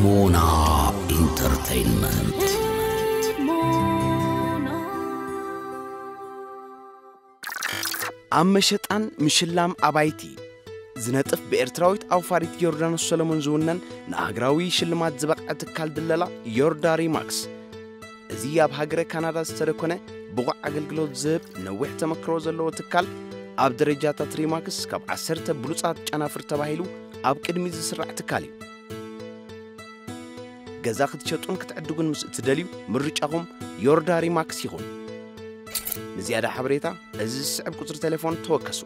ሞና ኢንተርቴይንመንት። ኣብ መሸጣን ምሽላም ኣባይቲ ዝነጥፍ ብኤርትራዊት ኣውፋሪት ዮርዳኖስ ሰለሞን ዝውነን ንኣህግራዊ ሽልማት ዝበቕዐ ትካል ድለላ ዮርዳ ሪማክስ። እዚ ኣብ ሃገረ ካናዳ ዝተደኮነ ብቑዕ ኣገልግሎት ዝህብ ነዊሕ ተመክሮ ዘለዎ ትካል ኣብ ደረጃታት ሪማክስ ካብ ዓሰርተ ብሉጻት ጨናፍር ተባሂሉ ኣብ ቅድሚት ዝስራዕ ትካል እዩ። ገዛ ክትሸጡን ክትዕድጉን ምስ እትደልዩ ምርጫኹም ዮርዳ ሪማክስ ይኹን። ንዝያዳ ሓበሬታ እዚ ዝስዕብ ቁጽሪ ቴሌፎን ተወከሱ።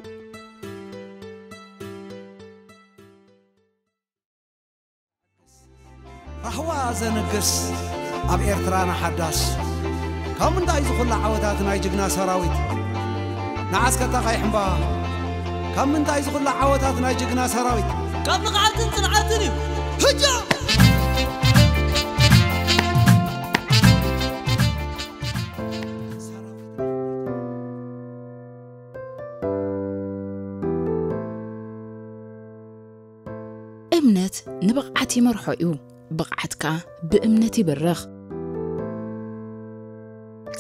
ራህዋ ዘንግስ ኣብ ኤርትራና ሓዳስ። ካብ ምንታይ ዝኹላ ዓወታት ናይ ጅግና ሰራዊት? ንዓስከ ተቐይሕ እምባ። ካብ ምንታይ ዝኹላ ዓወታት ናይ ጅግና ሰራዊት? ካብ ንቕሓትን ጽንዓትን እዩ። ህጃ! እምነት ንብቕዓት ይመርሖ እዩ፣ ብቕዓት ከኣ ብእምነት ይብርኽ።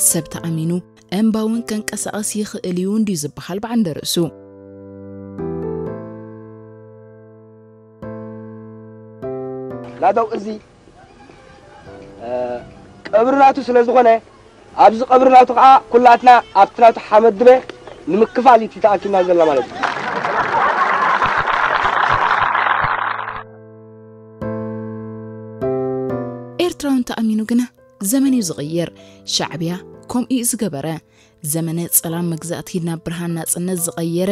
ሰብ ተኣሚኑ እምባ እውን ከንቀሳቐስ ይኽእል እዩ እንድዩ ዝበሃል ብዓንደ ርእሱ። ናደው እዚ ቀብሪ ናቱ ስለ ዝኾነ ኣብዚ ቀብሪ ናቱ ከዓ ኩላትና ኣብቲ ናቱ ሓመድ ድበ ንምክፋል እዩ ተኣኪብና ዘለና ማለት እዩ። ኤርትራውን ተኣሚኑ ግና ዘመን እዩ ዝቕይር። ሻዕብያ ከምኡ እዩ ዝገበረ። ዘመነ ጸላም መግዛእቲ ናብ ብርሃን ናጽነት ዝቐየረ፣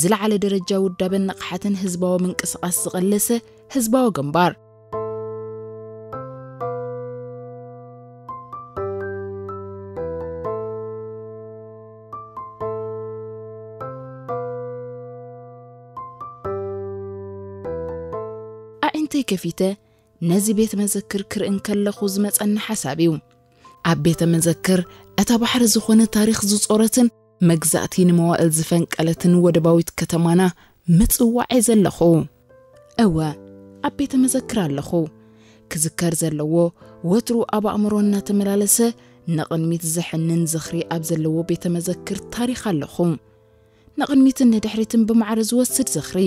ዝለዓለ ደረጃ ውዳበን ንቕሓትን ህዝባዊ ምንቅስቓስ ዝቐለሰ ህዝባዊ ግንባር። ኣዒንተይ ከፊተ ነዚ ቤተ መዘክር ክርኢ እንከለኹ ዝመጸኒ ሓሳብ እዩ። ኣብ ቤተ መዘክር እታ ባሕሪ ዝኾነ ታሪኽ ዝጾረትን መግዛእቲ ንመዋእል ዝፈንቀለትን ወደባዊት ከተማና ምጽዋዕ እየ ዘለኹ። እወ፣ ኣብ ቤተ መዘክር ኣለኹ። ክዝከር ዘለዎ፣ ወትሩ ኣብ ኣእምሮ እናተመላለሰ ንቕድሚት ዘሕንን ዝኽሪ ኣብ ዘለዎ ቤተ መዘክር ታሪኽ ኣለኹ። ንቕድሚትን ንድሕሪትን ብማዕረ ዝወስድ ዝኽሪ።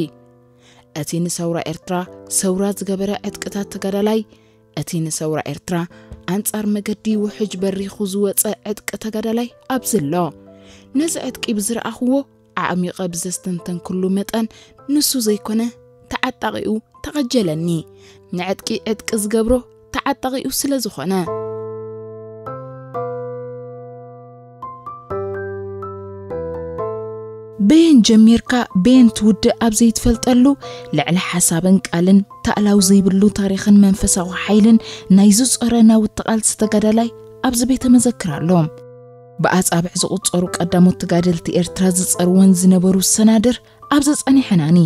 እቲ ንሰውራ ኤርትራ ሰውራ ዝገበረ ዕጥቅታት ተጋዳላይ፣ እቲ ንሰውራ ኤርትራ ኣንጻር መገዲ ውሕጅ በሪኹ ዝወጸ ዕጥቂ ተጋዳላይ ኣብዚ ኣሎ። ነዚ ዕጥቂ ብዝረኣኽዎ ኣዕሚቐ ብዘስተንተንኩሉ መጠን ንሱ ዘይኮነ ተዓጣቒኡ ተቐጀለኒ። ንዕጥቂ ዕጥቂ ዝገብሮ ተዓጣቒኡ ስለ ዝኾነ። በየን ጀሚርካ በየን ትውድእ ኣብ ዘይትፈልጠሉ ልዕሊ ሓሳብን ቃልን ታእላው ዘይብሉ ታሪኽን መንፈሳዊ ሓይልን ናይ ዝጾረ ናውቲ ቃልሲ ተጋዳላይ ኣብዚ ቤተ መዘክር ኣሎ። ብኣጻብዕ ዝቑጸሩ ቀዳሞት ተጋደልቲ ኤርትራ ዝጸርወን ዝነበሩ ሰናድር ኣብዚ ጸኒሐናኒ።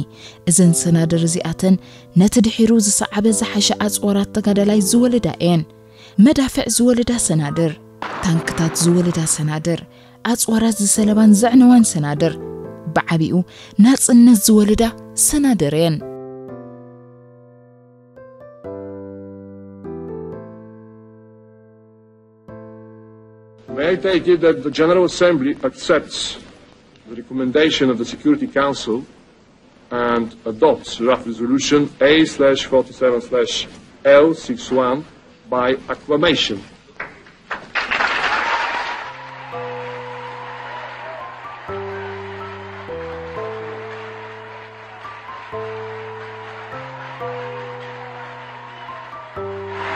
እዘን ሰናድር እዚኣተን ነቲ ድሒሩ ዝሰዓበ ዝሓሸ ኣጽዋራት ተጋዳላይ ዝወለዳ እየን። መዳፍዕ ዝወለዳ ሰናድር፣ ታንክታት ዝወለዳ ሰናድር፣ ኣጽዋራት ዝሰለባን ዘዕነዋን ሰናድር፣ ብዓቢኡ ናጽነት ዝወለዳ ሰናድር እየን። May I take it that the General Assembly accepts the recommendation of the Security Council and adopts draft resolution A slash forty-seven slash L six one by acclamation.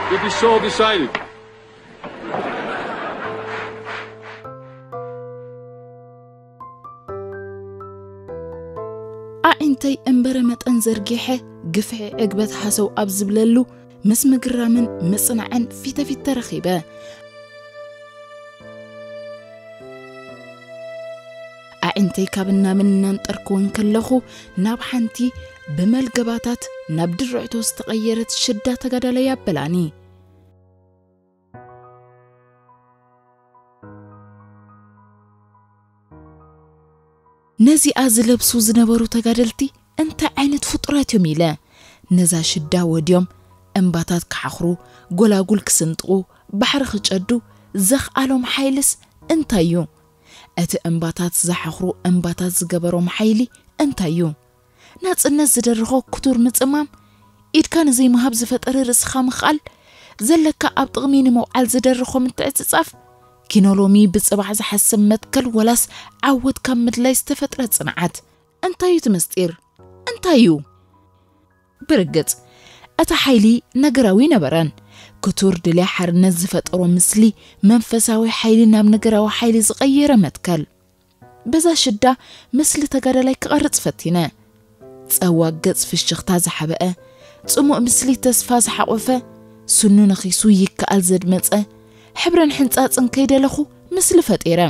It is so decided. ኣዒንተይ እምበረ መጠን ዘርጊሐ ግፍዒ ዕግበት ሃሰው ኣብ ዝብለሉ ምስ ምግራምን ምጽናዕን ፊተፊት ተረኺበ። ኣዒንተይ ካብ እናምን እናንጠርክወን ከለኹ ናብ ሓንቲ ብመልገባታት ናብ ድርዕቶ ዝተቐየረት ሽዳ ተጋዳላይ ኣበላኒ። ነዚኣ ዝለብሱ ዝነበሩ ተጋደልቲ እንታይ ዓይነት ፍጡራት እዮም ኢለ ነዛ ሽዳ ወድዮም እምባታት ክሓኽሩ፣ ጎላጉል ክስንጥቑ፣ ባሕሪ ክጨዱ ዘኽኣሎም ሓይልስ እንታይ እዩ? እቲ እምባታት ዝሓኽሩ እምባታት ዝገበሮም ሓይሊ እንታይ እዩ? ናጽነት ዝደርኾ ክቱር ምጽማም፣ ኢድካ ንዘይምሃብ ዝፈጠረ ርእስኻ ምኽኣል፣ ዘለካ ኣብ ጥቕሚ ንምውዓል ዝደርኾ ምትዕጽጻፍ፣ ኪኖ ሎሚ ብጽባሕ ዝሓስብ መትከል ወላስ ዓወት ካብ ምድላይ ዝተፈጥረ ጽንዓት? እንታይ እዩ እቲ ምስጢር? እንታይ እዩ? ብርግጽ፣ እቲ ሓይሊ ነገራዊ ነበረን። ክቱር ድልያ ሓርነት ዝፈጠሮ ምስሊ፣ መንፈሳዊ ሓይሊ ናብ ነገራዊ ሓይሊ ዝቐየረ መትከል። በዛ ሽዳ፣ ምስሊ ተጋዳላይ ክቐርጽ ፈቲነ። ጸዋግ ገጽ ፍሽኽታ ዝሓበአ፣ ጽሙእ ምስሊ ተስፋ ዝሓቖፈ፣ ስኑ ነኺሱ ይከኣል ዘድመጸ፣ ሕብርን ሕንጻጽን ከይደለኹ፣ ምስሊ ፈጢረ።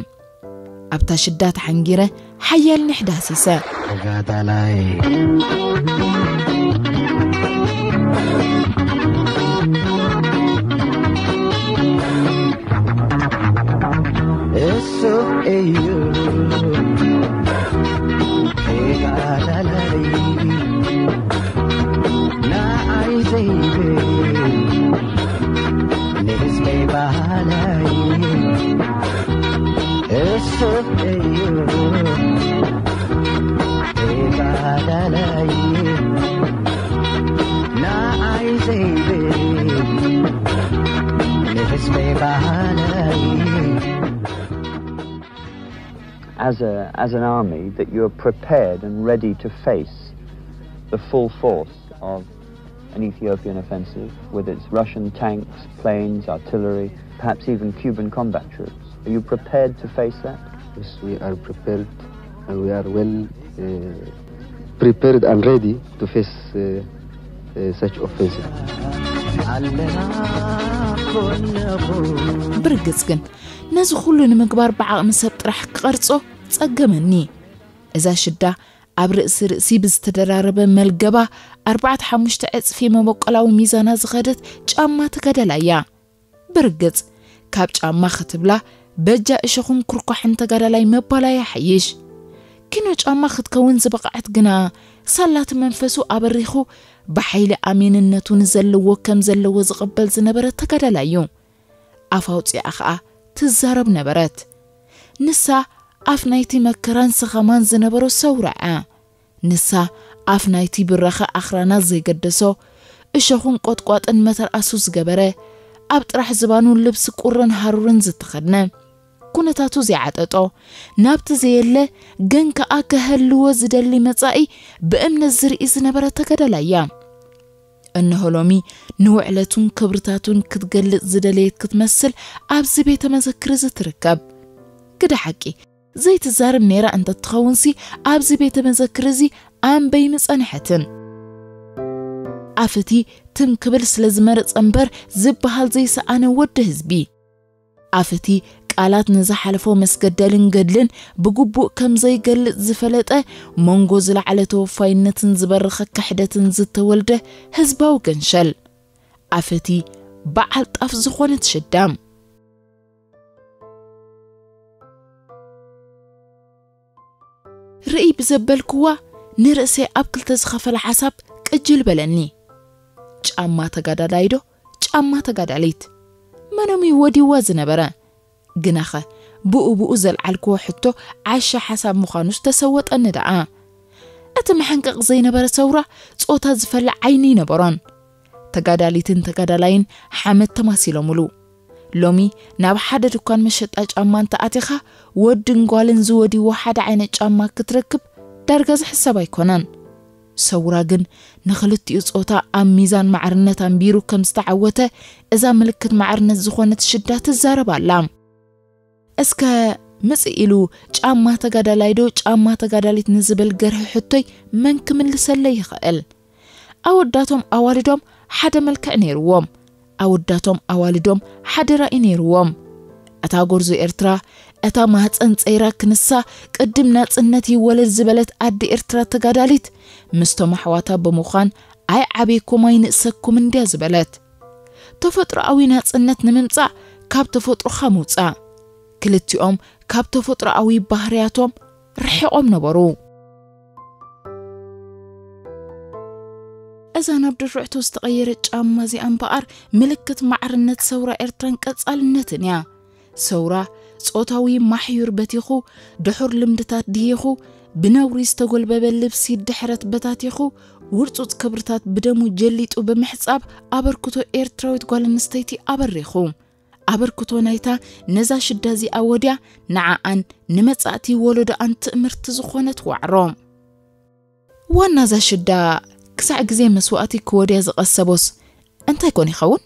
ኣብታ ሽዳ ተሓንጊረ ሓያል ኒሕ ዳህሲሰ። ተጋዳላይ እሱ እዩ ተጋዳላይ ንዓይ ዘይብል ንህዝበይ ባህላይ እሱ እዩ ተጋዳላይ ንዓይ ዘይብል ንህዝበይ ባህላይ as a as an army that you're prepared and ready to face the full force of an Ethiopian offensive with its Russian tanks, planes, artillery, perhaps even Cuban combat troops. Are you prepared to face that? Yes, we are prepared and we are well uh, prepared and ready to face uh, uh, such offensive. ብርግጽ ግን ነዚ ኩሉ ንምግባር ብዓቕሚ ሰብ ጥራሕ ክቐርጾ ጸገመኒ። እዛ ሽዳ ኣብ ርእሲ ርእሲ ብዝተደራረበ መልገባ ኣርባዕተ ሓሙሽተ ዕጽፊ መበቆላዊ ሚዛና ዝኸደት ጫማ ተጋዳላይ እያ። ብርግጽ ካብ ጫማ ክትብላ በጃ እሾኽን ኩርኳሕን ተጋዳላይ ምባላ ይሓይሽ። ኪኖ ጫማ ክትከውን ዝበቕዐት ግና ሳላቲ መንፈሱ ኣበሪኹ ብሓይሊ ኣሜንነቱ ንዘለዎ ከም ዘለዎ ዝቕበል ዝነበረ ተጋዳላይ እዩ። ኣፍ ኣውፂኣ ኸዓ ትዛረብ ነበረት። ንሳ ኣፍ ናይቲ መከራን ሰኸማን ዝነበሮ ሰውራ እያ። ንሳ ኣፍ ናይቲ ብራኸ ኣኽራናት ዘይገደሶ፣ እሾኽን ቆጥቋጥን መተርኣሱ ዝገበረ፣ ኣብ ጥራሕ ዝባኑ ልብሲ ቁርን ሃሩርን ዝተኸድነ፣ ኩነታቱ ዘይዓጠጦ፣ ናብቲ ዘየለ ግን ከኣ ከህልዎ ዝደሊ መጻኢ ብእምነት ዝርኢ ዝነበረ ተጋዳላይ እያ። እነሆ ሎሚ ንውዕለቱን ክብርታቱን ክትገልጽ ዝደለየት ክትመስል ኣብዚ ቤተ መዘክር እዚ ትርከብ። ግደ ሓቂ ዘይትዛረብ ነይራ እንተትኸውንሲ ኣብዚ ቤተ መዘክር እዚ ኣንበይ ምጸንሐትን። ኣፍቲ ትም ክብል ስለ ዝመረጸ እምበር ዝበሃል ዘይሰኣነ ወዲ ህዝቢ። ኣፍቲ ቃላት ንዝሓለፎ መስገደልን ገድልን ብግቡእ ከም ዘይገልጽ ዝፈለጠ መንጎ ዝለዓለ ተወፋይነትን ዝበረኸ ክሕደትን ዝተወልደ ህዝባዊ ገንሸል። ኣፍቲ በዓል ጣፍ ዝኾነት ሽዳም። ርእይ ብዘበልክዋ ንርእሰይ ኣብ ክልተ ዝኸፈለ ሓሳብ ቅጅል በለኒ። ጫማ ተጋዳላይ ዶ ጫማ ተጋዳሊት? መኖም እዩ ወዲዋ ዝነበረ? ግናኸ ብኡ ብኡ ዘልዓልክዎ ሕቶ ዓሻ ሓሳብ ምዃኑስ ተሰወጠኒ ደኣ። እቲ መሐንቀቕ ዘይነበረ ሰውራ ጾታ ዝፈለ ዓይኒ ይነበሮን። ተጋዳሊትን ተጋዳላይን ሓመድ ተማሲሎምሉ። ሎሚ ናብ ሓደ ድኳን መሸጣ ጫማ እንተ ኣቲኻ ወድን ጓልን ዝወድይዎ ሓደ ዓይነት ጫማ ክትረክብ ዳርጋ ዝሕሰብ ኣይኮነን። ሰውራ ግን ንኽልቲኡ ጾታ ኣብ ሚዛን ማዕርነት ኣንቢሩ ከም ዝተዓወተ እዛ ምልክት ማዕርነት ዝኾነት ሽዳ ትዛረብ ኣላ። እስከ ምጽእ ኢሉ ጫማ ተጋዳላይ ዶ ጫማ ተጋዳሊት ንዝብል ገርሂ ሕቶይ መን ክምልሰለይ ይኽእል? ኣወዳቶም ኣዋልዶም ሓደ መልክዕ ነይርዎም። ኣወዳቶም ኣዋልዶም ሓደ ራኢ ነይርዎም። እታ ጎርዞ ኤርትራ፣ እታ ማህጸን ጸይራ ክንሳ ቅድም ናጽነት ይወለድ ዝበለት ኣዲ ኤርትራ ተጋዳሊት ምስቶም ኣሕዋታ ብምዃን ኣይዓብየኩም ኣይንእሰኩም እንድያ ዝበለት። ተፈጥሮኣዊ ናጽነት ንምምጻእ ካብ ተፈጥሮኻ ምውጻእ። ክልቲኦም ካብ ተፈጥሮኣዊ ባህርያቶም ርሒቖም ነበሩ። እዛ ናብ ድርዕቶ ዝተቐየረ ጫማ እዚኣ እምበኣር ምልክት ማዕርነት ሰውራ ኤርትራን ቀጻልነትን እያ። ሰውራ ጾታዊ ማሕዩር በቲኹ፣ ድሑር ልምድታት ድሂኹ፣ ብነውሪ ዝተጎልበበ ልብሲ ድሕረት በታቲኹ፣ ውርጹጽ ክብርታት ብደሙ ጀሊጡ ብምሕጻብ ኣበርክቶ ኤርትራዊት ጓል ኣንስተይቲ ኣበሪኹ። ኣበርክቶ ናይታ ነዛ ሽዳ እዚኣ ወድያ ንዓኣን ንመጻእቲ ወለዶኣን ትእምርቲ ዝኾነት ዋዕሮ። ዋና እዛ ሽዳ ክሳዕ ግዜ መስዋእቲ ክወድያ ዝቐሰቦስ እንታይ ኮን ይኸውን?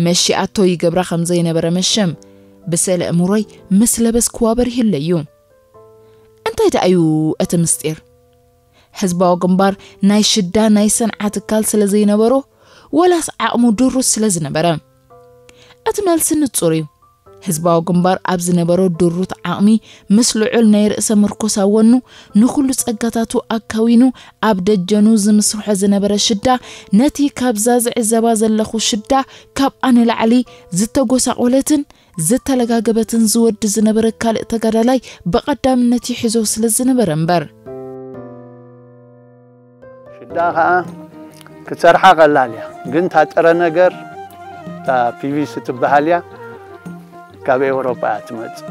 መሺኣቶ ይገብራ ከም ዘይነበረ መሸም ብስእለ እምሮይ ምስ ለበስክዋ በሪህለዩ። እንታይ ደኣ እዩ እቲ ምስጢር? ህዝባዊ ግንባር ናይ ሽዳ ናይ ሰንዓ ትካል ስለ ዘይነበሮ፣ ወላስ ዓቕሙ ድሩት ስለ ዝነበረ? እቲ መልሲ ንጹር እዩ። ህዝባዊ ግንባር ኣብ ዝነበሮ ድሩት ዓቕሚ፣ ምስ ልዑል ናይ ርእሰ ምርኮሳ ወኑ፣ ንኹሉ ጸጋታቱ ኣካዊኑ ኣብ ደጀኑ ዝምስርሖ ዝነበረ ሽዳ፣ ነቲ ካብዛ ዝዕዘባ ዘለኹ ሽዳ ካብኣ ንላዕሊ ዝተጎሳቖለትን ዝተለጋገበትን ዝወዲ ዝነበረ ካልእ ተጋዳላይ ብቐዳምነት ይሕዞ ስለ ዝነበረ እምበር። ሽዳ ኸዓ ክትሰርሓ ቀላል እያ፣ ግን እታ ጥረ ነገር እታ ፒቪሲ ትበሃል እያ፣ ካብ ኤውሮጳ እያ ትመጽእ።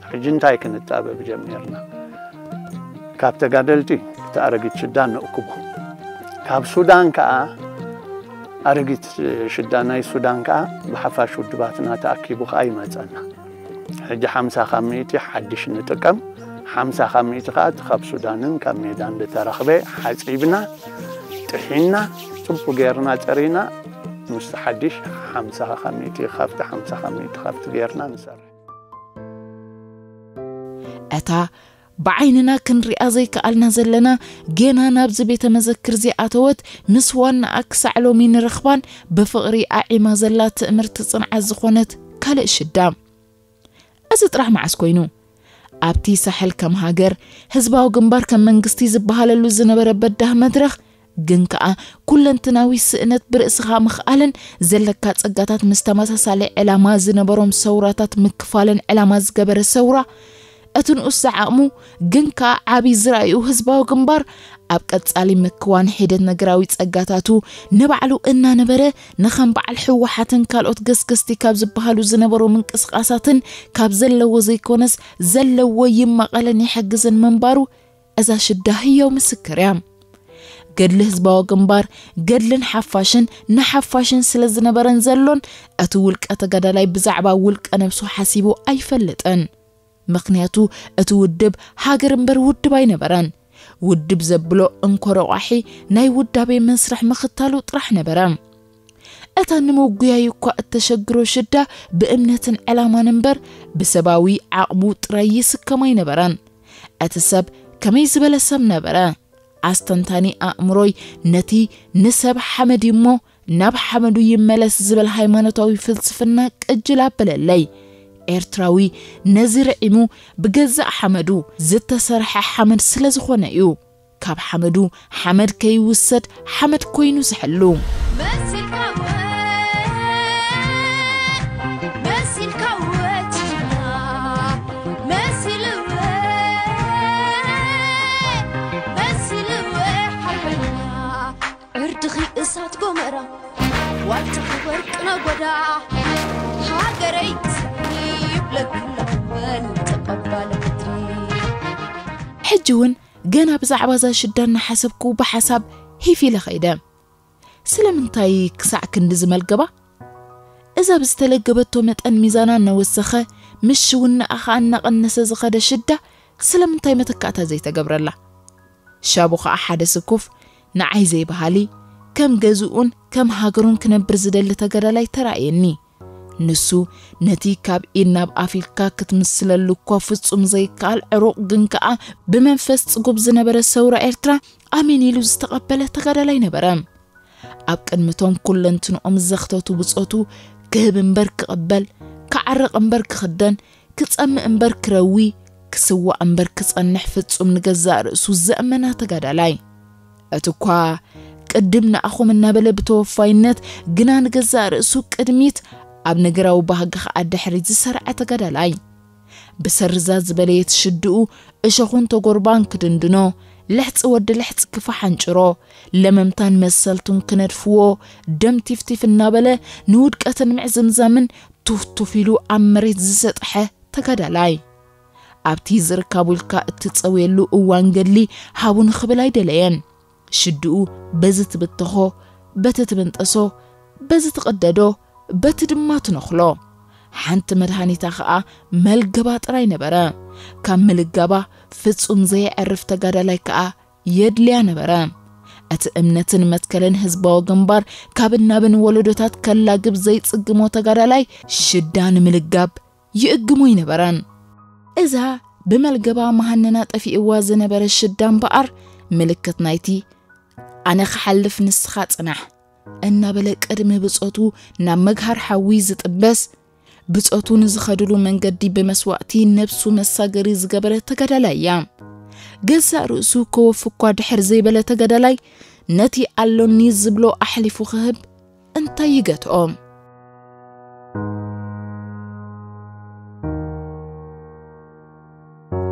ሕጂ እንታይ ክንጣበብ ጀሚርና? ካብ ተጋደልቲ እቲ ኣረጊት ሽዳ ንእክቦ። ካብ ሱዳን ከኣ ኣረጊት ሽዳ ናይ ሱዳን ከኣ ብሓፋሽ ውድባትና ተኣኪቡ ከኣ ይመጸና። ሕጂ ሓምሳ ካብ ሚእቲ ሓድሽ ንጥቀም፣ ሓምሳ ካብ ሚእቲ ከኣ እቲ ካብ ሱዳንን ካብ ሜዳን ዝተረኽበ ሓጺብና ጥሒና ጽቡቕ ጌርና ጸሪና ምስቲ ሓድሽ ሓምሳ ካብ ሚእቲ ካብቲ ሓምሳ ካብ ሚእቲ ካብቲ ጌርና ንሰርሕ። እታ ብዓይንና ክንሪኣ ዘይከኣልና ዘለና ጌና ናብዚ ቤተ መዘክር ዘይኣተወት ምስ ዋናኣ ክሳዕ ሎሚ ንረኽባን ብፍቕሪ ኣዒማ ዘላ ትእምርቲ ጽንዓት ዝኾነት ካልእ ሽዳ። እዚ ጥራሕ መዓስ ኮይኑ? ኣብቲ ሳሕል ከም ሃገር፣ ህዝባዊ ግንባር ከም መንግስቲ ዝበሃለሉ ዝነበረ በዳህ መድረኽ፣ ግን ከኣ ኩለንትናዊ ስእነት ብርእስኻ ምኽኣልን ዘለካ ጸጋታት ምስ ተመሳሳሊ ዕላማ ዝነበሮም ሰውራታት ምክፋልን ዕላማ ዝገበረ ሰውራ፣ እቲ ንኡስ ዝዓቕሙ ግን ከኣ ዓቢ ዝረኣዩ ህዝባዊ ግንባር ኣብ ቀጻሊ ምክዋን ሒደት ነገራዊ ጸጋታቱ ንባዕሉ እናነበረ ንኸም በዓል ህወሓትን ካልኦት ገስገስቲ ካብ ዝበሃሉ ዝነበሩ ምንቅስቓሳትን ካብ ዘለዎ ዘይኮነስ ዘለዎ ይመቐልን ይሕግዝን ምንባሩ እዛ ሽዳ ህያው ምስክር እያ። ገድሊ ህዝባዊ ግንባር ገድልን ሓፋሽን ንሓፋሽን ስለ ዝነበረን ዘሎን እቲ ውልቀ ተጋዳላይ ብዛዕባ ውልቀ ነብሱ ሓሲቡ ኣይፈልጥን። ምኽንያቱ እቲ ውድብ ሃገር እምበር ውድብ ኣይነበረን። ውድብ ዘብሎ እንኮ ረቋሒ ናይ ውዳቤ መስርሕ ምኽታሉ ጥራሕ ነበረ። እታ ንምጉያይ እኳ እተሸግሮ ሽዳ ብእምነትን ዕላማን እምበር ብሰባዊ ዓቕሙ ጥራይ ይስከም ኣይነበረን። እቲ ሰብ ከመይ ዝበለ ሰብ ነበረ? ኣስተንታኒ ኣእምሮይ ነቲ ንሰብ ሓመድ እዩ እሞ ናብ ሓመዱ ይመለስ ዝብል ሃይማኖታዊ ፍልስፍና ቅጅል ኣበለለይ። ኤርትራዊ ነዚ ርዒሙ ብገዛእ ሓመዱ ዝተሰርሐ ሓመድ ስለ ዝኾነ እዩ። ካብ ሓመዱ ሓመድ ከይውሰድ ሓመድ ኮይኑ ዝሕሉ። መሲልካወ መሲልካወ ጅግና መሲልወ መሲልወ ሓርበኛ ዕርድኺ እሳት ጎመራ ዋልታኺ ወርቂ ነጎዳ ሃገረይ ይብለክላ ወን ተቐባለ ምድሪ። ሕጂ እውን ገና ብዛዕባ እዛ ሽዳ እናሓሰብኩ ብሓሳብ ሂፍ ኢለ ኸይደ። ስለምንታይ ክሳዕ ክንዲ ዝመልገባ? እዛ ብዝተለገበቶ መጠን ሚዛና እናወሰኸ ምሽውናኣ ኸኣ እናቐነሰ ዝኸደ ሽዳ ስለምንታይ መተካእታ ዘይተገብረላ? ሻቡ ኸኣ ሓደ ስኩፍ ንዓይ ዘይበሃሊ ከም ገዝኡን ከም ሃገሩን ክነብር ዝደሊ ተጋዳላይ ተራእየኒ። ንሱ ነቲ ካብ ኢድ ናብ ኣፍ ኢልካ ክትምስለሉ እኳ ፍጹም ዘይከኣል ዕሩቕ ግን ከኣ ብመንፈስ ጽጉብ ዝነበረ ሰውራ ኤርትራ ኣሜን ኢሉ ዝተቐበለ ተጋዳላይ ነበረ። ኣብ ቅድሚቶም ኩለንትንኦም ዘኽተቱ ብጾቱ ክህብ እምበር ክቕበል፣ ክዓርቕ እምበር ክኽደን፣ ክጸምእ እምበር ክረዊ፣ ክስዋእ እምበር ክጸንሕ ፍጹም ንገዛእ ርእሱ ዘእመና ተጋዳላይ። እቲ እኳ ቅድም ንኣኹም እናበለ ብተወፋይነት ግና ንገዛእ ርእሱ ቅድሚት ኣብ ነገራዊ ባህጊ ኸኣ ድሕሪት ዝሰርዐ ተጋዳላይ። ብሰርዛ ዝበለየት ሽድኡ እሾኹን ተጎርባን ክድንድኖ፣ ልሕፂ ወዲ ልሕፂ ክፋ ሓንጭሮ፣ ለመምታን መሰልቱን ክነድፍዎ፣ ደም ቲፍቲፍ እናበለ ንውድቀትን ምዕዝምዛምን ቱፍቱፍ ኢሉ ኣብ መሬት ዝሰጥሐ ተጋዳላይ። ኣብቲ ዝርካቡ ኢልካ እትፀውየሉ እዋን ገድሊ ሃቡን ክብል ኣይደለየን። ሽድኡ በዚ ትብተኾ፣ በቲ ትብንጠሶ፣ በዚ ትቕደዶ፣ በቲ ድማ ትነኽሎ። ሓንቲ መድሃኒታ ኸኣ መልገባ ጥራይ ነበረ። ካብ ምልጋባ ፍጹም ዘየዕርፍ ተጋዳላይ ከኣ የድልያ ነበረ። እቲ እምነትን መትከልን ህዝባዊ ግንባር ካብ እናብን ወለዶታት ከላግብ ዘይጽግሞ ተጋዳላይ ሽዳ ንምልጋብ ይእግሞ ኣይነበረን። እዛ ብመልገባ መሃነና ጠፊእዋ ዝነበረ ሽዳ እምበኣር ምልክት ናይቲ "ኣነ ክሓልፍ ንስኻ ጽናሕ" እናበለ ቅድሚ ብጾቱ ናብ መግሃር ሓዊ ዝጥበስ፣ ብጾቱ ንዝኸድሉ መንገዲ ብመስዋእቲ ነብሱ መሳገሪ ዝገበረ ተጋዳላይ እያ። ገዛእ ርእሱ ከወፊ እኳ ድሕር ዘይበለ ተጋዳላይ ነቲ ኣሎኒ ዝብሎ ኣሕሊፉ ክህብ እንታይ ይገትኦ?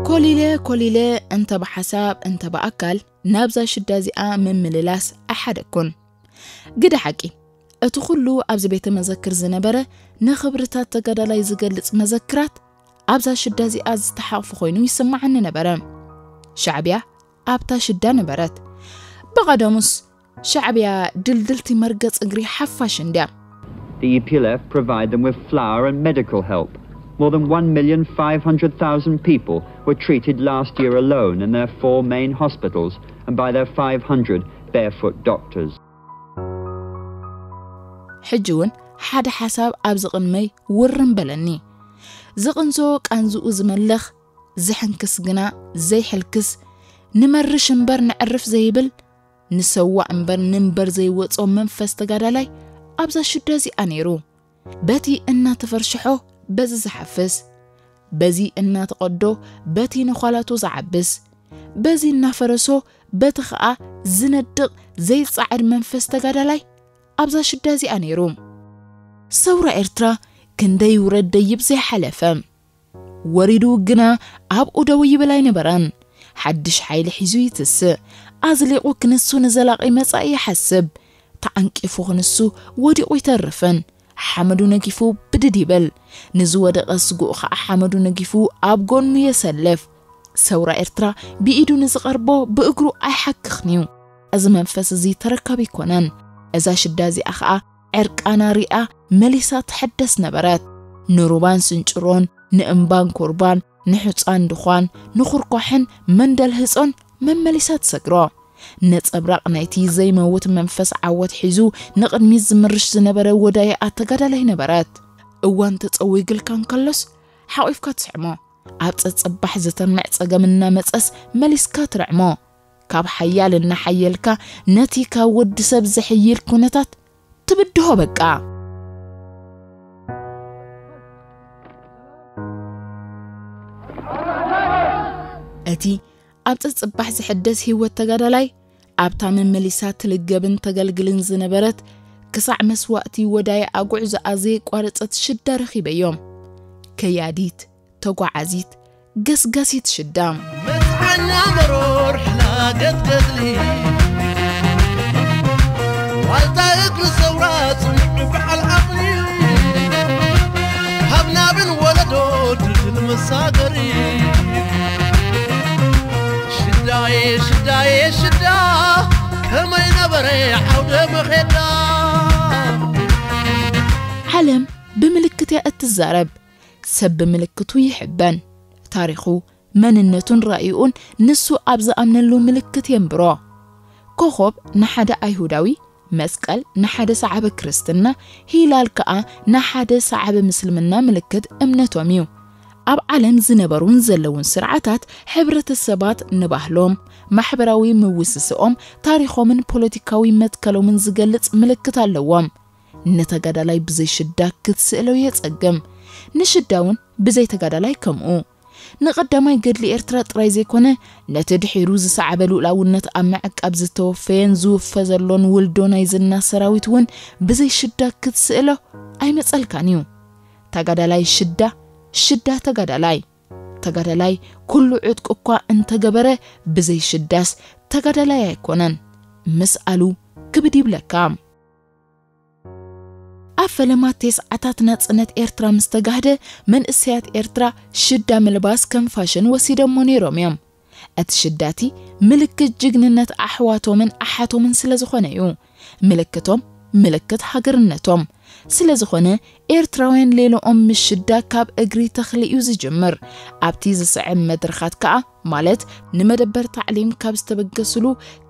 ኮሊለ ኮሊለ እንተ ብሓሳብ እንተ ብኣካል ናብዛ ሽዳ እዚኣ ምምልላስ ኣይሓደግኩን። ግደ ሓቂ፣ እቲ ኩሉ ኣብዚ ቤተ መዘክር ዝነበረ ንኽብርታት ተጋዳላይ ዝገልጽ መዘክራት ኣብዛ ሽዳ እዚኣ ዝተሓቕፈ ኮይኑ ይስምዓኒ ነበረ። ሻዕብያ ኣብታ ሽዳ ነበረት። ብቐደሙስ ሻዕብያ ድልድልቲ መርገጽ እግሪ ሓፋሽ እንድያ። The E P L F provide them with flour and medical help. More than one million five hundred thousand people were treated last year alone in their four main hospitals and by their five hundred barefoot doctors. ሕጂ እውን ሓደ ሓሳብ ኣብዚ ቅድመይ ውርም በለኒ። ዝቕንዞ ቃንዝኡ ዝመልኽ፣ ዝሕንክስ ግና ዘይሕልክስ፣ ንመርሽ እምበር ንዕርፍ ዘይብል፣ ንሰዋእ እምበር ንንበር ዘይወጾ መንፈስ ተጋዳላይ ኣብዛ ሽዳ እዚኣ ነይሩ። በቲ እናተፈርሽሖ በዚ ዝሓፍስ፣ በዚ እናተቐዶ በቲ ነዃላቱ ዝዓብስ፣ በዚ እናፈረሶ በቲ ኸኣ ዝነድቕ ዘይጸዓድ መንፈስ ተጋዳላይ ኣብዛ ሽዳ እዚኣ ነይሩ። ሰውራ ኤርትራ ክንደይ ውረድ ደይብ ዘይሓለፈ፣ ወሪዱ ግና ኣብኡ ደው ይብል ኣይነበረን። ሓድሽ ሓይሊ ሒዙ ይትስእ። ኣዝሊቑ ክንሱ ንዘላቒ መጻኢ ይሓስብ። ተዓንቂፉ ክንሱ ወዲቑ ይተርፍን ሓመዱ ነጊፉ ብድድ ይብል። ንዝወደቐ ስጉእ ኸዓ ሓመዱ ነጊፉ ኣብ ጎኑ የሰልፍ። ሰውራ ኤርትራ ብኢዱ ንዝቐርቦ ብእግሩ ኣይሓክኽን እዩ። እዚ መንፈስ እዚ ተረካቢ ኣይኮነን። እዛ ሽዳ እዚኣ ኸዓ ዕርቃና ሪኣ መሊሳ ትሕደስ ነበረት። ንሩባን ስንጭሮን፣ ንእምባን ኩርባን፣ ንሑጻን ድዃን፣ ንኹርኳሕን መንደል ህጾን መመሊሳ ትሰግሮ። ነጸብራቕ ናይቲ ዘይመውት መንፈስ ዓወት ሒዙ ንቕድሚት ዝምርሽ ዝነበረ ወዳይኣ ተጋዳላይ ነበረት። እዋን ተጸዊግልካ እንከሎስ ሓቒፍካ ትስዕሞ። ኣብ ጸጸባሕ ዝተምዕ ጸገም እናመጸስ መሊስካ ትርዕሞ። ካብ ሓያል እናሓየልካ ነቲ ካብ ወዲ ሰብ ዝሕይል ኩነታት ትብድሆ በቃ። እቲ ኣብ ጸጸባሕ ዝሕደስ ህይወት ተጋዳላይ ኣብታ መመሊሳ ትልገብን ተገልግልን ዝነበረት ክሳዕ መስዋእቲ ወዳይኣ ጉዕዞኣ ዘየቋረጸት ሽዳ ረኺበዮም። ከያዲት፣ ተጓዓዚት፣ ገስጋሲት ሽዳ። መጽዓኛ መሮር ሕላገት ገድሊ ዋልታ እግሪ ሰውራ ጽኑዕ በዓል ዓቕሊ ካብ ናብን ወለዶ ድልድል መሳገሪ ሽዳየ ሽዳየ ሽዳ ከመይ ነበረ ዓውደ መኼዳ። ዓለም ብምልክት እያ እትዛረብ፣ ሰብ ብምልክቱ ይሕበን። ታሪኹ፣ መንነቱን ራእይኡን ንሱ ኣብ ዝኣምነሉ ምልክት የንብሮ። ኮኾብ ንሓደ ኣይሁዳዊ፣ መስቀል ንሓደ ሰዓበ ክርስትና፣ ሂላል ከኣ ንሓደ ሰዓበ ምስልምና ምልክት እምነቶም እዩ። ኣብ ዓለም ዝነበሩን ዘለውን ስርዓታት ሕብረተሰባት ንባህሎም፣ ማሕበራዊ ምውስስኦም፣ ታሪኾምን ፖለቲካዊ መትከሎምን ዝገልጽ ምልክት ኣለዎም። ንተጋዳላይ ብዘይ ሽዳ ክትስእሎ የጸግም። ንሽዳ እውን ብዘይ ተጋዳላይ ከምኡ። ንቐዳማይ ገድሊ ኤርትራ ጥራይ ዘይኮነ፣ ነቲ ድሒሩ ዝሰዓበ ልኡላውነት ኣብ ምዕቃብ ዝተወፈየን ዝውፈ ዘሎን ውልዶ ናይ ዝና ሰራዊት እውን ብዘይ ሽዳ ክትስእሎ ኣይመጸልካን እዩ። ተጋዳላይ ሽዳ፣ ሽዳ ተጋዳላይ። ተጋዳላይ ኩሉ ዕጥቁ እኳ እንተገበረ፣ ብዘይ ሽዳስ ተጋዳላይ ኣይኮነን። ምስኣሉ ክብድ ይብለካ። ኣብ ፈለማ ተስዓታት ናጽነት ኤርትራ ምስ ተጋህደ፣ መንእሰያት ኤርትራ ሽዳ ምልባስ ከም ፋሽን ወሲደሞ ነይሮም እዮም። እቲ ሽዳቲ ምልክት ጅግንነት ኣሕዋቶምን ኣሓቶምን ስለ ዝኾነ እዩ። ምልክቶም ምልክት ሃገርነቶም ስለ ዝኾነ፣ ኤርትራውያን ሌሎኦም ምስ ሽዳ ካብ እግሪ ተኽሊ እዩ ዝጅምር። ኣብቲ ዝስዕብ መድረኻት ከኣ፣ ማለት ንመደበር ታዕሊም ካብ ዝተበገስሉ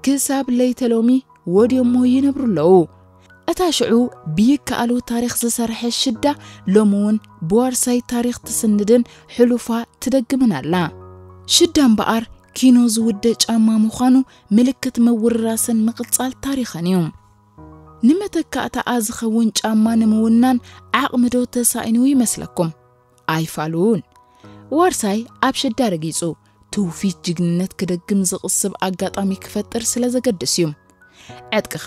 ክሳብ ለይተ ሎሚ ወድዮሞ ይነብሩ ኣለዉ። እታ ሽዑ ብይከኣሉ ታሪኽ ዝሰርሐ ሽዳ፣ ሎሚ እውን ብዋርሳይ ታሪኽ ትስንድን ሕሉፋ ትደግምን ኣላ። ሽዳ እምበኣር ኪኖ ዝውደ ጫማ ምዃኑ ምልክት ምውርራስን ምቕጻል ታሪኽን እዩ። ንመተካእታኣ ዝኸውን ጫማ ንምውናን ዓቕሚ ዶ ተሳኢኑ ይመስለኩም? ኣይፋሉን። ዋርሳይ ኣብ ሽዳ ረጊጹ ትውፊት ጅግንነት ክደግም ዝቕስብ ኣጋጣሚ ክፈጥር ስለ ዘገድስ እዩ። ዕጥቅኻ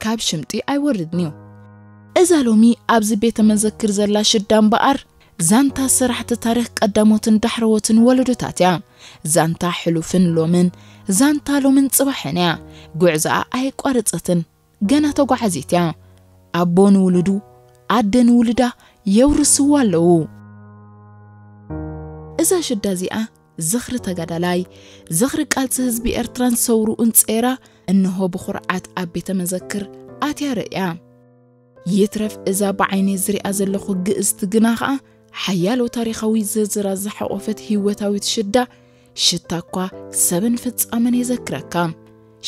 ካብ ሽምጢ ኣይወርድን እዩ። እዛ ሎሚ ኣብዚ ቤተ መዘክር ዘላ ሽዳ እምበኣር፣ ዛንታ ሰራሕቲ ታሪኽ ቀዳሞትን ዳሕረዎትን ወለዶታት እያ። ዛንታ ሕሉፍን ሎምን፣ ዛንታ ሎምን ጽባሕን እያ። ጉዕዞኣ ኣየቋረጸትን፣ ገና ተጓዓዚት እያ። ኣቦ ንውሉዱ፣ ኣደ ንውሉዳ የውርስዋ ኣለዉ። እዛ ሽዳ እዚኣ ዝኽሪ ተጋዳላይ፣ ዝኽሪ ቃልሲ ህዝቢ ኤርትራን ሰውርኡን ጸይራ፣ እንሆ ብኹርዓት ኣብ ቤተ መዘክር ኣትያ ርእያ። ይትረፍ እዛ ብዓይነይ ዝሪኣ ዘለኹ ግእዝቲ ግና ኸኣ፣ ሓያሎ ታሪኻዊ ዝርዝራት ዝሓቖፈት ህይወታዊት ሽዳ፣ ሽታ እኳ ሰብን ፍጻመን የዘክረካ።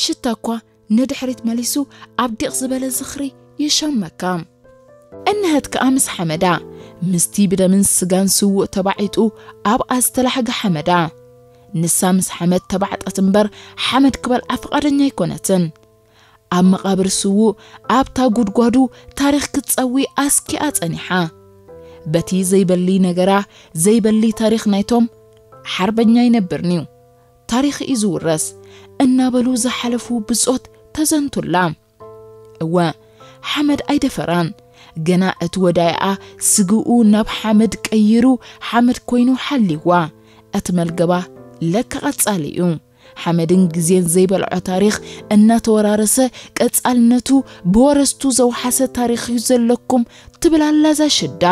ሽታ እኳ ንድሕሪት መሊሱ ኣብ ዲቕ ዝበለ ዝኽሪ ይሸመካ። እንሀት ከኣ ምስ ሓመዳ፣ ምስቲ ብደምን ስጋን ስዉእ ተባዒጡ ኣብኣ ዝተላሕገ ሓመዳ። ንሳ ምስ ሓመድ ተባዕጠት እምበር፣ ሓመድ ክበልዓ ፍቓደኛ ኣይኮነትን። ኣብ መቓብር ስዉእ፣ ኣብታ ጉድጓዱ ታሪኽ ክትጸዊ ኣስኪኣ ጸኒሓ። በቲ ዘይበሊ ነገራ፣ ዘይበሊ ታሪኽ ናይቶም፣ ሓርበኛ ይነብርን'ዩ፣ ታሪኽ እዩ ዝውረስ እናበሉ ዝሓለፉ ብጾት ተዘንቱላ። እወ፣ ሓመድ ኣይደፈራን። ገና እቲ ወዳይኣ ስግኡ ናብ ሓመድ ቀይሩ፣ ሓመድ ኮይኑ ሓልይዋ። እቲ መልገባ ለካ ቀጻሊ እዩ። ሓመድን ግዜን ዘይበልዖ ታሪኽ እናተወራረሰ፣ ቀጻልነቱ ብወረስቱ ዘውሓሰ ታሪኽ እዩ ዘለኩም፣ ትብል ኣላ እዛ ሽዳ።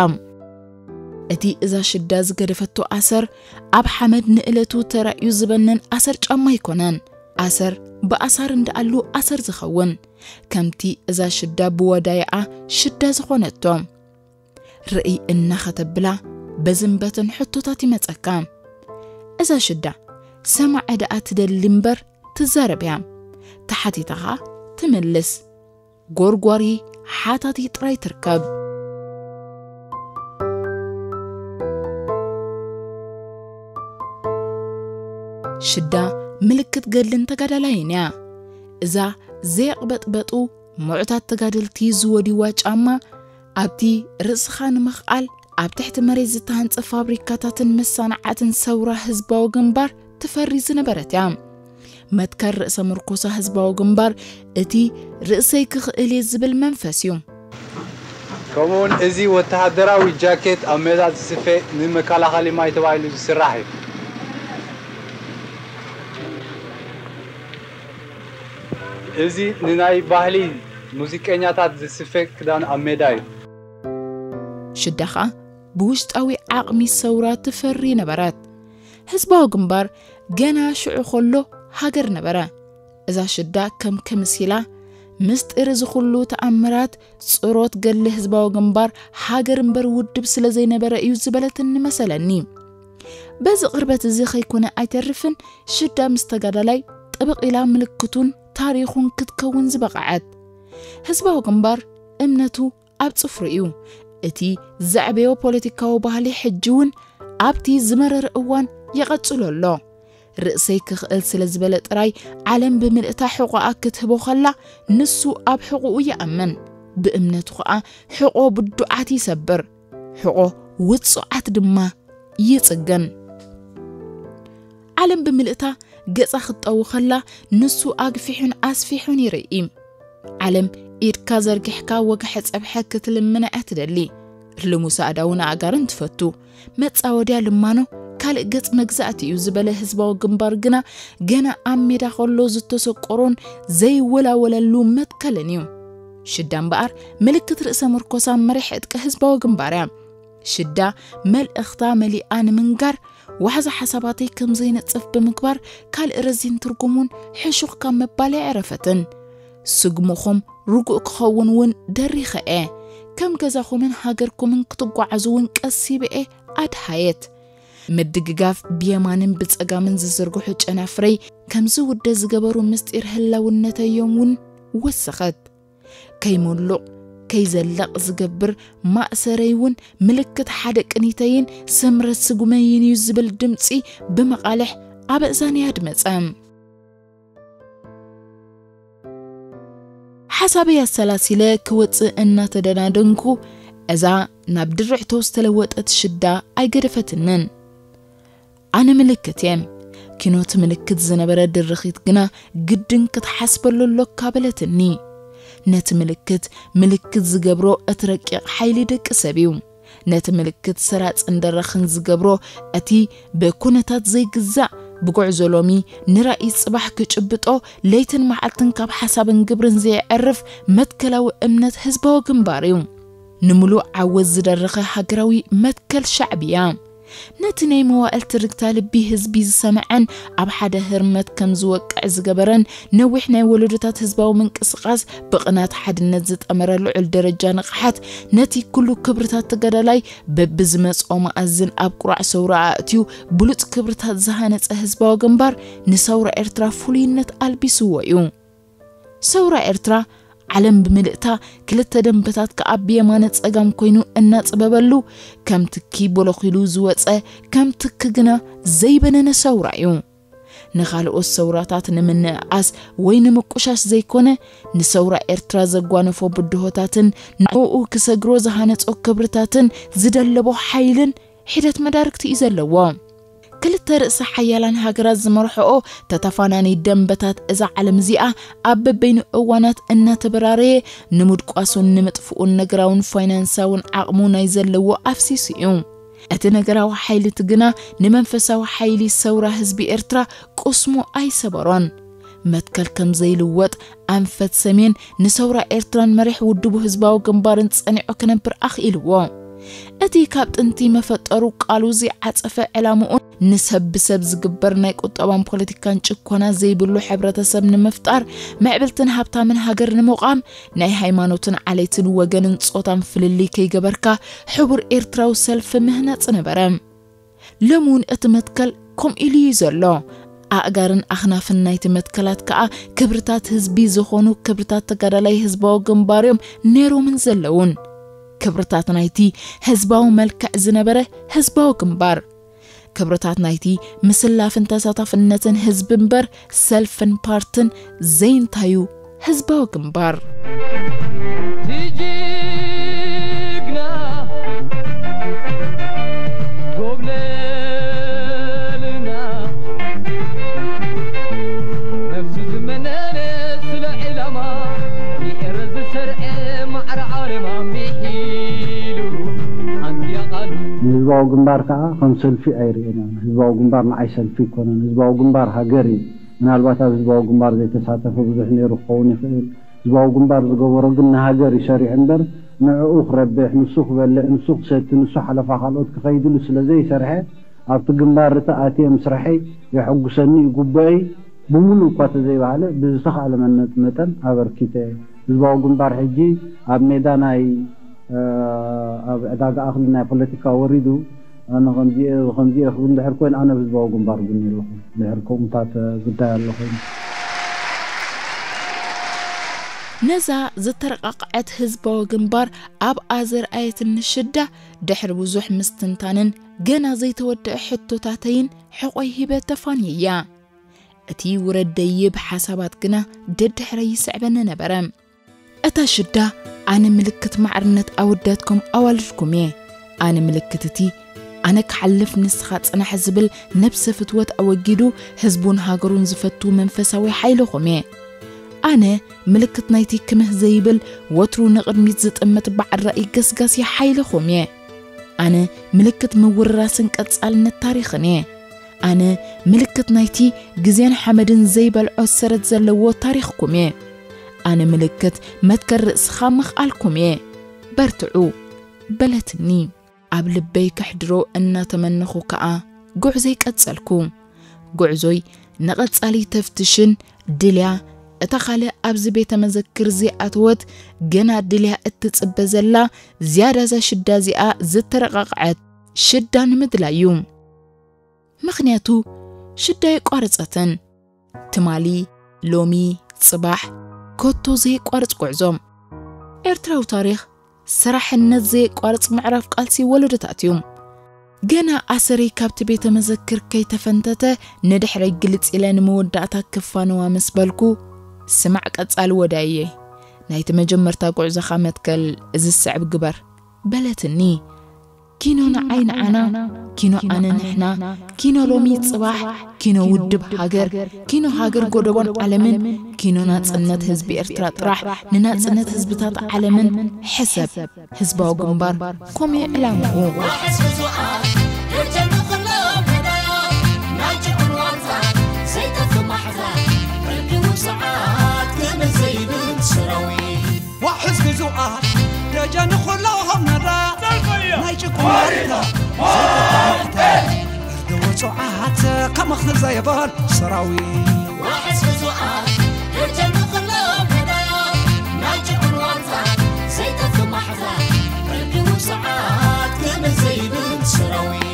እቲ እዛ ሽዳ ዝገደፈቶ ኣሰር፣ ኣብ ሓመድ ንእለቱ ተራእዩ ዝበነን ኣሰር ጫማ ኣይኮነን። ኣሰር ብኣሳር እንደኣሉ ኣሰር ዝኸውን፣ ከምቲ እዛ ሽዳ ብወዳይኣ ሽዳ ዝኾነቶ። ርእይ እናኸተብላ በዝንበትን ሕቶታት ይመጸካ። እዛ ሽዳ ሰማዒ ደኣ ትደሊ እምበር ትዛረብ እያ። ተሓቲታ ኸኣ ትምልስ። ጎርጓሪ ሓታቲ ጥራይ ትርከብ። ሽዳ ምልክት ገድልን ተጋዳላይን እያ። እዛ ዘየቕበጥበጡ ምዑታት ተጋደልቲ ዝወድይዋ ጫማ፣ ኣብቲ ርእስኻ ንምኽኣል ኣብ ትሕቲ መሬት ዝተሃንጸ ፋብሪካታትን መሳንዓትን ሰውራ ህዝባዊ ግንባር ትፈሪ ዝነበረት እያ። መትከል ርእሰ ምርኮሳ ህዝባዊ ግንባር እቲ ርእሰይ ክኽእል እየ ዝብል መንፈስ እዩ። ከምኡውን እዚ ወተሃደራዊ ጃኬት ኣብ ሜዳ ዝስፈ ንመከላኸሊ ማይ ተባሂሉ ዝስራሕ እዩ። እዚ ንናይ ባህሊ ሙዚቀኛታት ዝስፈ ክዳን ኣብ ሜዳ እዩ። ሽዳ ኸኣ ብውሽጣዊ ዓቕሚ ሰውራ ትፈሪ ነበረት። ህዝባዊ ግንባር ገና ሽዑ ኸሎ ሃገር ነበረ። እዛ ሽዳ ከም ከምሲላ ምስጢር እዚ ኹሉ ተኣምራት ጽሮት ገድሊ ህዝባዊ ግንባር ሃገር እምበር ውድብ ስለ ዘይነበረ እዩ ዝበለትኒ መሰለኒ። በዚ ቅርበት እዚ ከይኮነ ኣይተርፍን፣ ሽዳ ምስ ተጋዳላይ ጥብቕ ኢላ ምልክቱን ታሪኹን ክትከውን ዝበቕዐት። ህዝባዊ ግንባር እምነቱ ኣብ ጽፍሩ እዩ። እቲ ዘዕበዮ ፖለቲካዊ ባህሊ ሕጂ እውን ኣብቲ ዝመረረ እዋን ይቐጽሎ ኣሎ። ርእሰይ ክኽእል ስለ ዝበለ ጥራይ ዓለም ብምልእታ ሕቖኣ ክትህቦ ኸላ፣ ንሱ ኣብ ሕቖኡ ይኣምን። ብእምነቱ ኸኣ ሕቖ ብዱዓት ይሰብር፣ ሕቖ ውጹዓት ድማ ይጽግን። ዓለም ብምልእታ ገጻ ክትጠዊ ኸላ፣ ንሱ ኣግፊሑን ኣስፊሑን ይርኢ። ዓለም ኢድካ ዘርጊሕካ ወግሐ ጸብሐ ክትልምና እያ ትደሊ። ልሙስ ኣእዳውን ኣእጋርን ትፈቱ። መጻወድያ ልማኖ ካልእ ገጽ መግዛእቲ እዩ ዝበለ ህዝባዊ ግንባር ግና፣ ገና ኣብ ሜዳ ከሎ ዝተሰቆሮን ዘይወላወለሉ መትከልን እዩ። ሽዳ እምበኣር ምልክት ርእሰ መርኮሳ መሪሕ ዕጥቂ ህዝባዊ ግንባር እያ። ሽዳ መልእኽታ መሊኣ ንምንጋር ዋሕዚ ሓሳባተይ ከም ዘይነጽፍ ብምግባር፣ ካልእ ረዚን ትርጉም እውን ሕሹኽ ካብ ምባል ኣይዕረፈትን። ስጉምኹም ርጉእ ክኸውን እውን ደሪኸ እየ። ከም ገዛኹምን ሃገርኩምን ክትጓዓዙ እውን ቀሲበ እየ ኣድሃየት። ምድግጋፍ ብየማንን ብጸጋምን ዝዝርግሑ ጨናፍረይ ከም ዝውደ ዝገበሩ ምስጢር ህላውነተይ እዮም እውን ወሰኸት። ከይመሉቕ ከይዘልቕ ዝገብር ማእሰረይ እውን ምልክት ሓደ ቅኒተይን ስምረት ስጉመይን እዩ ዝብል ድምጺ ብመቓልሕ ኣብ ኣእዛነይ ኣድመጸ። ሓሳበይ ኣሰላሲለ ክወጽእ እናተደናደንኩ፣ እዛ ናብ ድርዕቶ ዝተለወጠት ሽዳ ኣይገደፈትንን። ኣነ ምልክት እየ። ኪኖቲ ምልክት ዝነበረ ድርኺት ግና ግድን ክትሓስበሉ ኣሎካ በለትኒ። ነቲ ምልክት ምልክት ዝገብሮ እቲ ረቂቕ ሓይሊ ደቂ ሰብ እዩ። ነቲ ምልክት ሰራጽን ደረኽን ዝገብሮ እቲ ብኩነታት ዘይግዛእ፣ ብጉዕዞ ሎሚ ንራእይ ጽባሕ ክጭብጦ ለይትን መዓልትን ካብ ሓሳብን ግብርን ዘየዕርፍ መትከላዊ እምነት ህዝባዊ ግንባር እዩ። ንምሉእ ዓወት ዝደረኸ ሃገራዊ መትከል ሻዕብያ። ነቲ ናይ መዋእል ትርግታ ልቢ ህዝቢ ዝሰምዐን ኣብ ሓደ ህርመት ከም ዝወቅዕ ዝገበረን ነዊሕ ናይ ወለዶታት ህዝባዊ ምንቅስቓስ ብቕናት ሓድነት ዝጠመረ ልዑል ደረጃ ንቕሓት ነቲ ኩሉ ክብርታት ተጋዳላይ በብዝመጽኦ መኣዝን ኣብ ቁራዕ ሰውራ ኣእትዩ ብሉጽ ክብርታት ዝሃነጸ ህዝባዊ ግንባር ንሰውራ ኤርትራ ፍሉይነት ኣልቢስዎ እዩ። ሰውራ ኤርትራ ዓለም ብምልእታ ክልተ ደንበታት ከኣ ብየማነ ጸጋም ኮይኑ እናጽበበሉ ከም ትኪ ቦለኺሉ ዝወጸ ከም ትኪ ግና ዘይበነነ ሰውራ እዩ። ንኻልኦት ሰውራታት ንምንእኣስ ወይ ንምቁሻሽ ዘይኮነ ንሰውራ ኤርትራ ዘጓነፎ ብድሆታትን ንዕኡ ክሰግሮ ዝሃነጾ ክብርታትን ዝደለቦ ሓይልን ሒደት መዳርግቲ እዩ ዘለዎ። ክልተ ርእሰ ሓያላን ሃገራት ዝመርሕኦ ተተፋናኒ ደንበታት እዛ ዓለም እዚኣ ኣብ በበይኑ እዋናት እናተበራረየ ንምድቋሱን ንምጥፍኡን ነገራውን ፋይናንሳውን ዓቕሙ ናይ ዘለዎ ኣፍሲሱ እዩ። እቲ ነገራዊ ሓይሊ እቲ ግና ንመንፈሳዊ ሓይሊ ሰውራ ህዝቢ ኤርትራ ቁስሙ ኣይሰበሮን። መትከል ከም ዘይልወጥ ኣንፈት ሰሜን ንሰውራ ኤርትራን መሪሕ ውድቡ ህዝባዊ ግንባርን ጸኒዑ ክነብር ኣኽኢልዎ። እቲ ካብ ጥንቲ መፈጠሩ ቃሉ ዘይዓጸፈ ዕላምኡን ንሰብ ብሰብ ዝግበር ናይ ቁጠባን ፖለቲካን ጭኮና ዘይብሉ ሕብረተሰብ ንምፍጣር፣ ምዕብልትን ሃብታምን ሃገር ንምቋም፣ ናይ ሃይማኖትን ዓሌትን ወገንን ጾታን ፍልልይ ከይገበርካ ሕቡር ኤርትራዊ ሰልፊ ምህናጽ ነበረ። ሎሚ እውን እቲ መትከል ከምኡ ኢሉ እዩ ዘሎ። ኣእጋርን ኣኽናፍን ናይቲ መትከላት ከኣ ክብርታት ህዝቢ ዝኾኑ ክብርታት ተጋዳላይ ህዝባዊ ግንባር እዮም ነይሮምን ዘለውን። ክብርታት ናይቲ ህዝባዊ መልክዕ ዝነበረ ህዝባዊ ግንባር። ክብርታት ናይቲ ምስላፍን ተሳታፍነትን ህዝቢ እምበር ሰልፍን ፓርትን ዘይንታዩ ህዝባዊ ግንባር። ጅግና ጎብለልና ነፍሱ ዝመነነ ስለ ዕላማ ንኤረ ዝሰርዐ ማዕረ ዓለማ ምሒሉ ኣንድያ ቃሉ። ንህዝባዊ ግንባር ከዓ ከም ሰልፊ ኣይርእዮን። ህዝባዊ ግንባር ንዓይ ሰልፊ ኣይኮነን። ህዝባዊ ግንባር ሃገር እዩ። ምናልባት ኣብ ህዝባዊ ግንባር ዘይተሳተፈ ብዙሕ ነይሩ ክኸውን ይኽእል። ህዝባዊ ግንባር ዝገበሮ ግን ንሃገር እዩ ሰሪሑ እምበር ንዕኡ ክረብሕ፣ ንሱ ክበልዕ፣ ንሱ ክሰቲ፣ ንሱ ሓለፋ ካልኦት ክኸይድሉ ስለ ዘይሰርሐ ኣብቲ ግንባር እቲ ኣትየ ምስራሐይ የሐጉሰኒ እዩ፣ ግቡአይ ብምሉእ እኳ ተዘይበሃለ ብዝተኻእለ መነ-፣ መጠን ኣበርኪተ። ህዝባዊ ግንባር ሕጂ ኣብ ሜዳ ናይ፣ እ፣ ኣብ ዕዳጋ ኣኽሊ ናይ ፖለቲካ ወሪዱ ኣነ ከምዚ እየ፣ ከምዚ እየ ክብል እንድሕር ኮይኑ ኣነ ኣብ ህዝባዊ ግንባር ጎኒ ኣለኹ። እንድሕር ከምኡታት ጉዳይ ኣሎ ኮይኑ። ነዛ ዝተረቃቕዐት ህዝባዊ ግንባር ኣብኣ ዘርኣየትኒ ሽዳ ድሕሪ ብዙሕ ምስትንታንን ገና ዘይተወደአ ሕቶታተይን ሕቖይ ሂበ ተፋንየያ። እቲ ውረድ ደይብ ሓሳባት ግና ደድሕረይ ይስዕበኒ ነበረ። እታ ሽዳ ኣነ ምልክት ማዕርነት ኣወዳትኩም ኣዋልድኩም እየ። ኣነ ምልክት እቲ ኣነ ክሓልፍ ንስኻ ጽናሕ ዝብል ነብሰ ፍትወት ኣወጊዱ ህዝቡን ሃገሩን ዝፈቱ መንፈሳዊ ሓይልኹም እየ። ኣነ ምልክት ናይቲ ክምህ ዘይብል ወትሩ ንቕድሚት ዝጥምት በዓል ራእይ ገስጋሲ ሓይልኹም እየ። ኣነ ምልክት ምውርራስን ቀጻልነት ታሪኽን እየ። ኣነ ምልክት ናይቲ ግዜን ሓመድን ዘይበልዖ ሰረት ዘለዎ ታሪኽኩም እየ። ኣነ ምልክት መትከል ርእስኻ ምኽኣልኩም እየ። በርትዑ፣ በለትኒ። ኣብ ልበይ ከሕድሮ እናተመነኹ ከኣ ጉዕዞይ ቀጸልኩ። ጉዕዞይ ንቐጻሊ ተፍትሽን ድልያ፣ እታ ካልእ ኣብዚ ቤተ መዘክር ዘይኣተወት፣ ገና ድልያ እትጽበ ዘላ፣ ዝያዳ እዛ ሽዳ እዚኣ ዝተረቓቕዐት ሽዳ ንምድላይ እዩ። ምኽንያቱ ሽዳ የቋረጸትን። ትማሊ፣ ሎሚ፣ ጽባሕ፣ ኮቶ ዘየቋርጽ ጉዕዞ። ኤርትራዊ ታሪኽ ሰራሕነት ዘየቋርጽ ምዕራፍ ቃልሲ ወለዶታት እዩ። ገና ኣሰረይ ካብቲ ቤተ መዘክር ከይተፈንተተ፣ ንድሕረይ ግልጽ ኢለ ንመወዳእታ ክፋነዋ ምስ በልኩ፣ "ስማዕ ቀጻሊ ወዳየ፣ ናይቲ መጀመርታ ጉዕዞኻ መትከል እዚ ዝስዕብ ግበር" በለትኒ። ኪኖ ንዓይ ንዓና፣ ኪኖ ኣነ ንሕና፣ ኪኖ ሎሚ ጽባሕ፣ ኪኖ ውድብ ሃገር፣ ኪኖ ሃገር ጎደቦን ዓለምን፣ ኪኖ ናጽነት ህዝቢ ኤርትራ ጥራሕ፣ ንናጽነት ህዝብታት ዓለምን ሕሰብ። ህዝባዊ ግንባር፣ ከምኡ ዕላምኡ። ዋሕዝ ግዙኣት ደጀን ኩሎም ነዳ ናይ ጭቁን መሪዳ ዘይተተማዕተ እርዲ ውጹዓት ከመኽን ዘይበል ሰራዊት። ዋሕዝ ግዙኣት ደጀን ኩሎም ነዳ ናይ ጭቁን ዋርታ ዘይጠፍእ ማሕዛ እርዲ ውጹዓት ከመ ዘይብል ሰራዊት።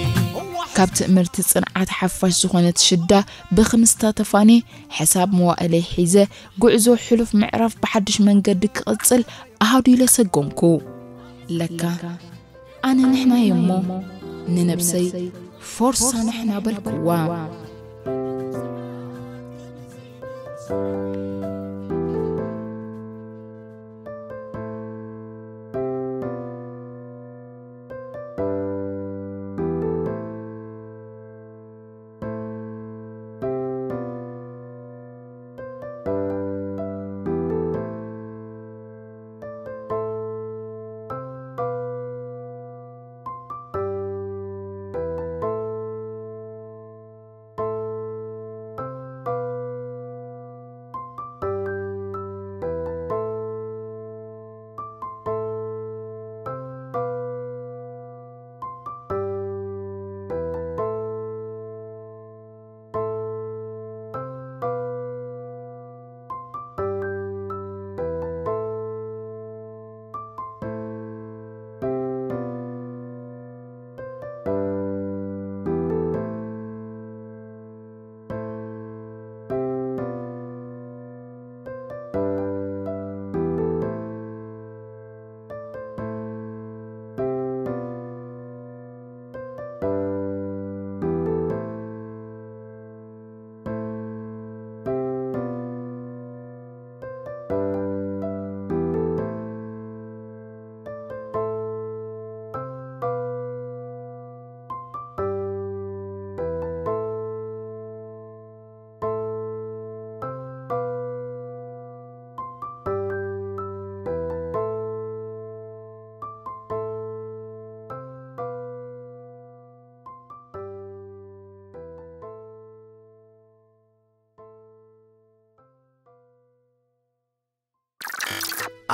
ካብ ትእምርቲ ጽንዓት ሓፋሽ ዝኾነት ሽዳ ብኽምስታ ተፋንየ፣ ሕሳብ መዋእለይ ሒዘ፣ ጉዕዞ ሕሉፍ ምዕራፍ ብሓድሽ መንገዲ ክቕጽል ኣሃዱ ኢለ ሰጎምኩ። ለካ ኣነ ንሕና እየ እሞ፣ ንነብሰይ ፎርሳ ንሕና በልክዋ።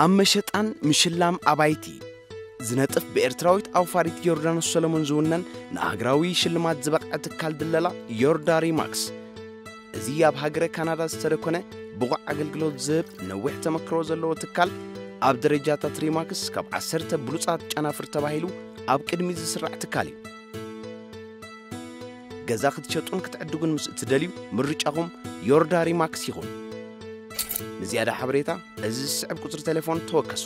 ኣብ መሸጣን ምሽላም ኣባይቲ ዝነጥፍ ብኤርትራዊት ኣውፋሪት ዮርዳኖስ ሰለሞን ዝውነን ንኣህግራዊ ሽልማት ዝበቕዐ ትካል ድለላ ዮርዳ ሪማክስ። እዚ ኣብ ሃገረ ካናዳ ዝተደኮነ ብቑዕ ኣገልግሎት ዝህብ ነዊሕ ተመክሮ ዘለዎ ትካል ኣብ ደረጃታት ሪማክስ ካብ ዓሰርተ ብሉጻት ጨናፍር ተባሂሉ ኣብ ቅድሚት ዝስራዕ ትካል እዩ። ገዛ ክትሸጡን ክትዕድጉን ምስ እትደልዩ ምርጫኹም ዮርዳ ሪማክስ ይኹን። ንዝያዳ ሓበሬታ እዚ ዝስዕብ ቁጽሪ ቴሌፎን ተወከሱ።